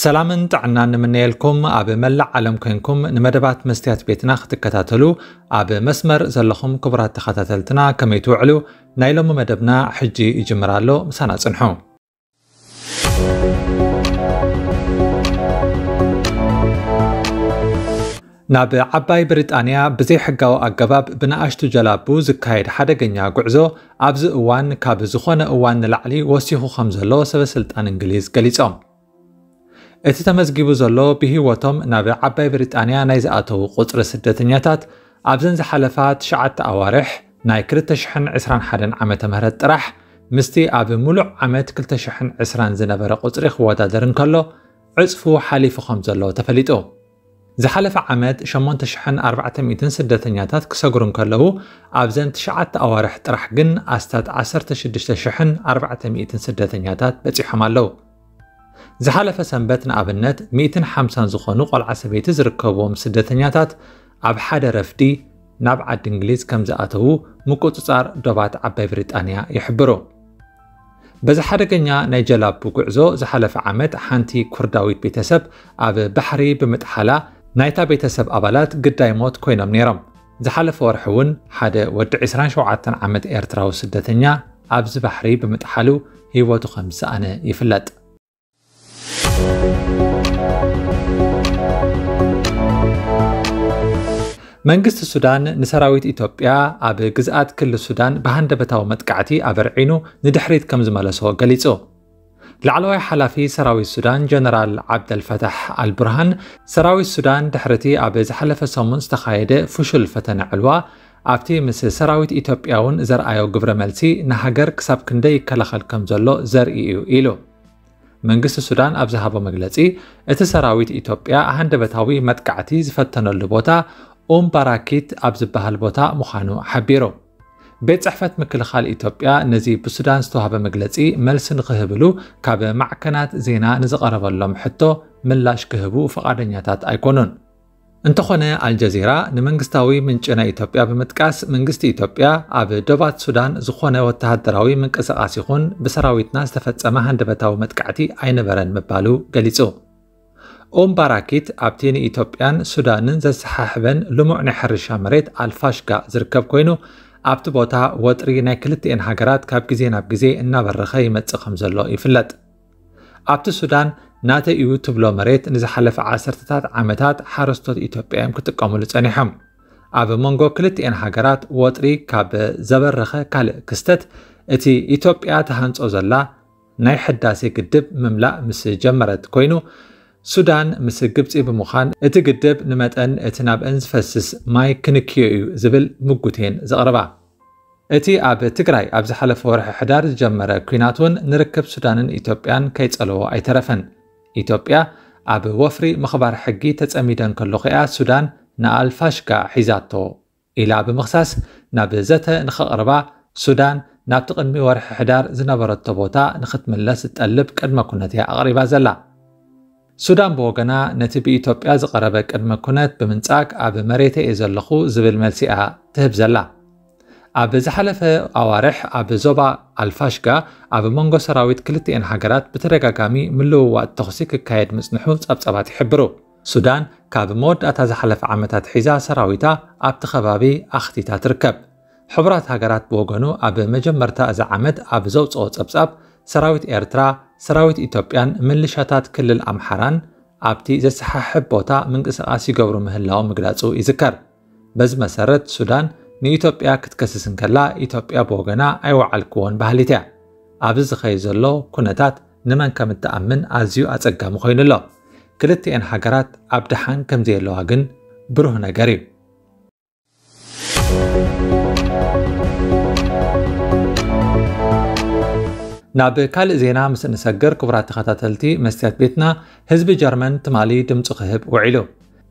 ሰላምን ጥዕናን ንምነየልኩም። ኣብ መላእ ዓለም ኮንኩም ንመደባት መስትያት ቤትና ክትከታተሉ ኣብ መስመር ዘለኹም ክቡራት ተኸታተልትና ከመይ ትውዕሉ? ናይ ሎሚ መደብና ሕጂ ይጅምር ኣሎ። ምሳና ጽንሑ። ናብ ዓባይ ብሪጣንያ ብዘይሕጋዊ ኣገባብ ብንኣሽቱ ጀላቡ ዝካየድ ሓደገኛ ጉዕዞ ኣብዚ እዋን ካብ ዝኾነ እዋን ንላዕሊ ወሲኹ ከም ዘሎ ሰበ ስልጣን እንግሊዝ ገሊጾም። እቲ ተመዝጊቡ ዘሎ ብህይወቶም ናብ ዓባይ ብሪጣንያ ናይ ዝኣተዉ ቁጽሪ ስደተኛታት ኣብዘን ዝሓለፋ ትሽዓተ ኣዋርሕ ናይ ክልተ ሽሕን ዕስራን ሓደን ዓመተ ምህረት ጥራሕ ምስቲ ኣብ ምሉእ ዓመት ክልተ ሽሕን ዕስራን ዝነበረ ቁጽሪ ክወዳደር እንከሎ ዕጽፉ ሓሊፉ ከም ዘሎ ተፈሊጡ። ዝሓለፈ ዓመት ሸሞንተ ሽሕን ኣርባዕተ ሚእትን ስደተኛታት ክሰግሩ እንከለዉ ኣብዘን ትሽዓተ ኣዋርሕ ጥራሕ ግን ኣስታት ዓሰርተ ሽዱሽተ ሽሕን ኣርባዕተ ሚእትን ስደተኛታት በጺሖም ኣለዉ። ዝሓለፈ ሰንበት ንኣብነት ሚእትን ሓምሳን ዝኾኑ ቆልዓ ሰበይቲ ዝርከብዎም ስደተኛታት ኣብ ሓደ ረፍዲ ናብ ዓዲ እንግሊዝ ከም ዝኣተዉ ምቁጽጻር ዶባት ዓባይ ብሪጣንያ ይሕብሩ። በዚ ሓደገኛ ናይ ጀላቡ ጉዕዞ ዝሓለፈ ዓመት ሓንቲ ኩርዳዊት ቤተሰብ ኣብ ባሕሪ ብምጥሓላ ናይታ ቤተሰብ ኣባላት ግዳይ ሞት ኮይኖም ነይሮም። ዝሓለፈ ወርሒ እውን ሓደ ወዲ ዕስራን ሸውዓተን ዓመት ኤርትራዊ ስደተኛ ኣብዚ ባሕሪ ብምጥሓሉ ህይወቱ ከም ዝሰኣነ ይፍለጥ። መንግስቲ ሱዳን ንሰራዊት ኢትዮጵያ ኣብ ግዝኣት ክልል ሱዳን ብሃንደበታዊ መጥቃዕቲ ኣበርዒኑ ንድሕሪት ከም ዝመለሶ ገሊጹ። ላዕለዋይ ሓላፊ ሰራዊት ሱዳን ጀነራል ዓብደልፈታሕ ኣልቡርሃን ሰራዊት ሱዳን ድሕሪቲ ኣብ ዝሓለፈ ሰሙን ዝተኻየደ ፍሹል ፈተነ ዕልዋ ኣብቲ ምስ ሰራዊት ኢትዮጵያ እውን ዘርኣዮ ግብረ መልሲ ንሃገር ክሳብ ክንደይ ይከላኸል ከም ዘሎ ዘርኢ እዩ ኢሉ። መንግስቲ ሱዳን ኣብ ዝሃቦ መግለጺ እቲ ሰራዊት ኢትዮጵያ ሃንደበታዊ መጥቃዕቲ ዝፈተነሉ ቦታ ኡም ባራኪት ኣብ ዝበሃል ቦታ ምዃኑ ሓቢሩ። ቤት ጽሕፈት ምክልኻል ኢትዮጵያ ነዚ ብሱዳን ዝተዋህበ መግለጺ መልሲ ንክህብሉ ካብ ማዕከናት ዜና ንዝቐረበሎም ሕቶ ምላሽ ክህቡ ፍቓደኛታት ኣይኮኑን። እንተኾነ ኣልጀዚራ ንመንግስታዊ ምንጪ ናይ ኢትዮጵያ ብምጥቃስ መንግስቲ ኢትዮጵያ ኣብ ዶባት ሱዳን ዝኾነ ወተሃደራዊ ምንቅስቓስ ይኹን ብሰራዊትና ዝተፈጸመ ሃንደበታዊ መጥቃዕቲ ኣይነበረን ምባሉ ገሊጹ። ኡም ባራኪት ኣብቲ ንኢትዮጵያን ሱዳንን ዘሰሓሕበን ልሙዕ ናይ ሕርሻ መሬት ኣልፋሽጋ ዝርከብ ኮይኑ ኣብቲ ቦታ ወጥሪ ናይ ክልቲኤን ሃገራት ካብ ግዜ ናብ ግዜ እናበረኸ ይመጽእ ከም ዘሎ ይፍለጥ። ኣብቲ ሱዳን ናተይ እዩ ትብሎ መሬት ንዝሓለፈ ዓሰርተታት ዓመታት ሓረስቶት ኢትዮጵያ እዮም ክጥቀሙሉ ጸኒሖም። ኣብ መንጎ ክልቲኤን ሃገራት ወጥሪ ካብ ዘበረኸ ካልእ ክስተት እቲ ኢትዮጵያ ተሃንጾ ዘላ ናይ ሕዳሴ ግድብ ምምላእ ምስ ጀመረት ኮይኑ ሱዳን ምስ ግብጺ ብምዃን እቲ ግድብ ንመጠን እቲ ናብአን ዝፈስስ ማይ ክንክዮ እዩ ዝብል ምጉቴን ዘቕርባ። እቲ ኣብ ትግራይ ኣብ ዝሓለፈ ወርሒ ሕዳር ዝጀመረ ኲናት እውን ንርክብ ሱዳንን ኢትዮጵያን ከይጸለዎ ኣይተረፈን። ኢትዮጵያ ኣብ ወፍሪ ምኽባር ሕጊ ተጸሚደ እንከለኹ እያ ሱዳን ንኣልፋሽጋ ሒዛቶ ኢላ ብምኽሳስ ናብ ዘተ ንኸቕርባ ሱዳን ናብቲ ቅድሚ ወርሒ ሕዳር ዝነበረቶ ቦታ ንኽትምለስ ዝጠልብ ቅድመ ኩነት እያ ኣቕሪባ ዘላ። ሱዳን ብወገና ነቲ ብኢትዮጵያ ዝቐረበ ቅድመ ኩነት ብምንጻግ ኣብ መሬተ እየ ዘለኹ ዝብል መልሲ እያ ትህብ ዘላ። ኣብ ዝሓለፈ ኣዋርሕ ኣብ ዞባ ኣልፋሽጋ ኣብ መንጎ ሰራዊት ክልቲኤን ሃገራት ብተደጋጋሚ ምልውዋጥ ተኹሲ ክካየድ ምጽንሑ ጸብጸባት ይሕብሩ። ሱዳን ካብ መወዳእታ ዝሓለፈ ዓመታት ሒዛ ሰራዊታ ኣብቲ ከባቢ ኣኽቲታ ትርከብ። ሕቡራት ሃገራት ብወገኑ ኣብ መጀመርታ እዚ ዓመት ኣብ ዘውጽኦ ጸብጻብ ሰራዊት ኤርትራ፣ ሰራዊት ኢትዮጵያን ምልሻታት ክልል ኣምሓራን ኣብቲ ዘሰሓሕብ ቦታ ምንቅስቓስ ይገብሩ ምህላዎም ምግላጹ ይዝከር። በዚ መሰረት ሱዳን ንኢትዮጵያ ክትከስስ እንከላ ኢትዮጵያ ብወገና ኣይወዓልክዎን በሃሊት እያ። ኣብዚ ዝኸይድ ዘሎ ኩነታት ንመን ከም እትኣምን ኣዝዩ ኣጸጋሚ ኮይኑ ኣሎ። ክልቲኤን ሃገራት ኣብ ደሓን ከም ዘየለዋ ግን ብሩህ ነገር እዩ። ናብ ካልእ ዜና ምስ እንሰግር ክቡራት ተኸታተልቲ መስትያት ቤትና ህዝቢ ጀርመን ትማሊ ድምፁ ክህብ ውዒሉ።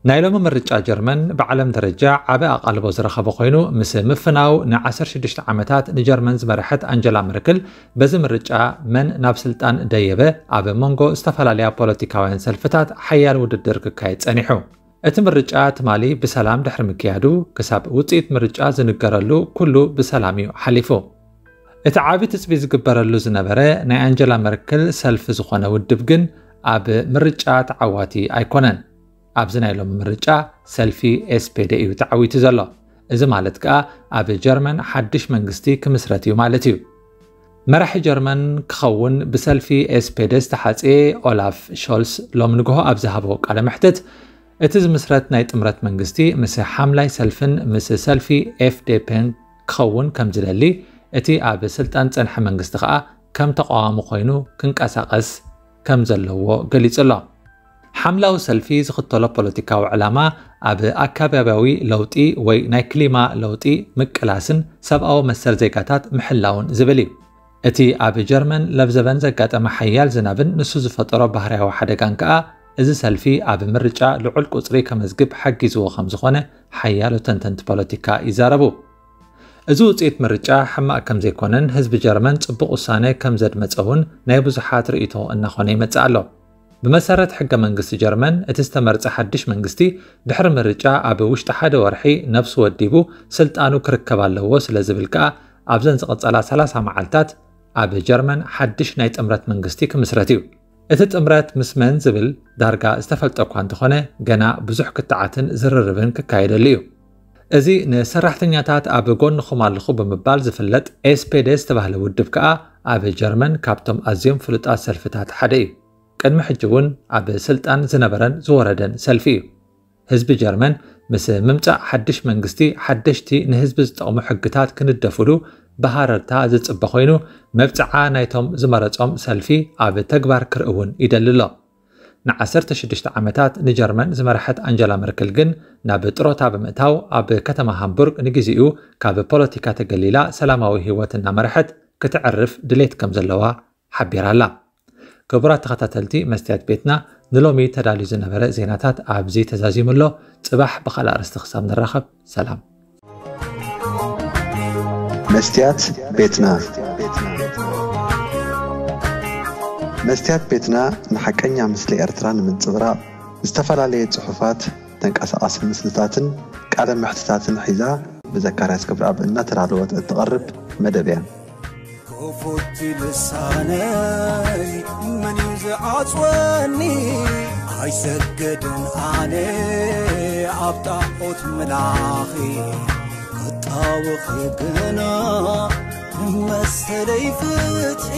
ናይ ሎሚ ምርጫ ጀርመን ብዓለም ደረጃ ዓቢ ኣቓልቦ ዝረኸበ ኮይኑ ምስ ምፍናው ን ዓሰርተ ሽዱሽተ ዓመታት ንጀርመን ዝመርሐት ኣንጀላ መርክል በዚ ምርጫ መን ናብ ስልጣን ደየበ ኣብ መንጎ ዝተፈላለያ ፖለቲካውያን ሰልፍታት ሓያል ውድድር ክካየድ ጸኒሑ። እቲ ምርጫ ትማሊ ብሰላም ድሕሪ ምክያዱ ክሳብ ውጽኢት ምርጫ ዝንገረሉ ኩሉ ብሰላም እዩ ሓሊፉ። እቲ ዓቢ ትጽቢ ዝግበረሉ ዝነበረ ናይ ኣንጀላ መርክል ሰልፊ ዝኾነ ውድብ ግን ኣብ ምርጫ ተዓዋቲ ኣይኮነን። ኣብዚ ናይ ሎሚ ምርጫ ሰልፊ ኤስፔደ እዩ ተዓዊቱ ዘሎ። እዚ ማለት ከኣ ኣብ ጀርመን ሓድሽ መንግስቲ ክምስረት እዩ ማለት እዩ። መራሒ ጀርመን ክኸውን ብሰልፊ ኤስፔደ ዝተሓጽየ ኦላፍ ሾልስ ሎም ንግሆ ኣብ ዝሃቦ ቃለ መሕትት፣ እቲ ዝምስረት ናይ ጥምረት መንግስቲ ምስ ሓምላይ ሰልፍን ምስ ሰልፊ ኤፍዴፔን ክኸውን ከም ዝደሊ፣ እቲ ኣብ ስልጣን ጸንሐ መንግስቲ ከኣ ከም ተቃዋሚ ኮይኑ ክንቀሳቐስ ከም ዘለዎ ገሊጹ ኣሎ። ሓምላዊ ሰልፊ ዝኽተሎ ፖለቲካዊ ዕላማ ኣብ ኣካባቢያዊ ለውጢ ወይ ናይ ክሊማ ለውጢ ምቅላስን ሰብኣዊ መሰል ዜጋታት ምሕላውን ዝብል እዩ። እቲ ኣብ ጀርመን ለብዘበን ዘጋጠመ ሓያል ዝናብን ንሱ ዝፈጠሮ ባህርያዊ ሓደጋን ከኣ እዚ ሰልፊ ኣብ ምርጫ ልዑል ቁጽሪ ከመዝግብ ሓጊዝዎ ከም ዝኾነ ሓያሎ ተንተንቲ ፖለቲካ ይዛረቡ። እዚ ውጽኢት ምርጫ ሕማቕ ከም ዘይኮነን ህዝቢ ጀርመን ጽቡቕ ውሳነ ከም ዘድመጸ እውን ናይ ብዙሓት ርእይቶ እናኾነ ይመጽእ ኣሎ። ብመሰረት ሕገ መንግስቲ ጀርመን፣ እቲ ዝተመርጸ ሓድሽ መንግስቲ ድሕሪ ምርጫ ኣብ ውሽጢ ሓደ ወርሒ ነብሱ ወዲቡ ስልጣኑ ክርከብ ኣለዎ ስለ ዝብል ከኣ ኣብዘን ዝቐጸላ ሰላሳ መዓልታት ኣብ ጀርመን ሓድሽ ናይ ጥምረት መንግስቲ ክምስረት እዩ። እቲ ጥምረት ምስ መን ዝብል ዳርጋ ዝተፈልጠ እኳ እንተኾነ፣ ገና ብዙሕ ክትዓትን ዝርርብን ክካየደሉ እዩ። እዚ ንሰራሕተኛታት ኣብ ጎንኹም ኣለኹ ብምባል ዝፍለጥ ኤስፔደ ዝተባህለ ውድብ ከኣ ኣብ ጀርመን ካብቶም ኣዝዮም ፍሉጣት ሰልፍታት ሓደ እዩ። ቅድሚ ሕጂ እውን ኣብ ስልጣን ዝነበረን ዝወረደን ሰልፊ እዩ። ህዝቢ ጀርመን ምስ ምምጻእ ሓድሽ መንግስቲ ሓደሽቲ ንህዝቢ ዝጠቕሙ ሕግታት ክንደፉሉ ብሃረርታ ዝጽበ ኮይኑ፣ መብጽዓ ናይቶም ዝመረጾም ሰልፊ ኣብ ተግባር ክርኢ እውን ይደሊ ኣሎ። ን16 ዓመታት ንጀርመን ዝመርሐት ኣንጀላ መርክል ግን ናብ ጥሮታ ብምእታው ኣብ ከተማ ሃምቡርግ ንግዜኡ ካብ ፖለቲካ ተገሊላ ሰላማዊ ህይወት እናመርሐት ክተዕርፍ ድሌት ከም ዘለዋ ሓቢራ ኣላ። ክቡራት ተኸታተልቲ መስትያት ቤትና፣ ንሎሚ ተዳልዩ ዝነበረ ዜናታት ኣብዚ ተዛዚሙ ኣሎ። ጽባሕ ብኻልእ ኣርእስቲ ክሳብ ንራኸብ፣ ሰላም። መስትያት ቤትና። መስትያት ቤትና ንሓቀኛ ምስሊ ኤርትራ ንምንጽብራቕ ዝተፈላለየ ጽሑፋት፣ ተንቀሳቓሲ ምስልታትን ቃለ መሕትታትን ሒዛ ብዘካርያስ ክብረኣብ እናተዳለወት እትቐርብ መደብ እያ። ክፉት ልሳነይ መን እዩ ዝዓጽወኒ? ኣይሰገድን ኣነ ኣብ ጣዖት ምላኺ ክጣወኺ ግና ንመሰለይ ፍትሒ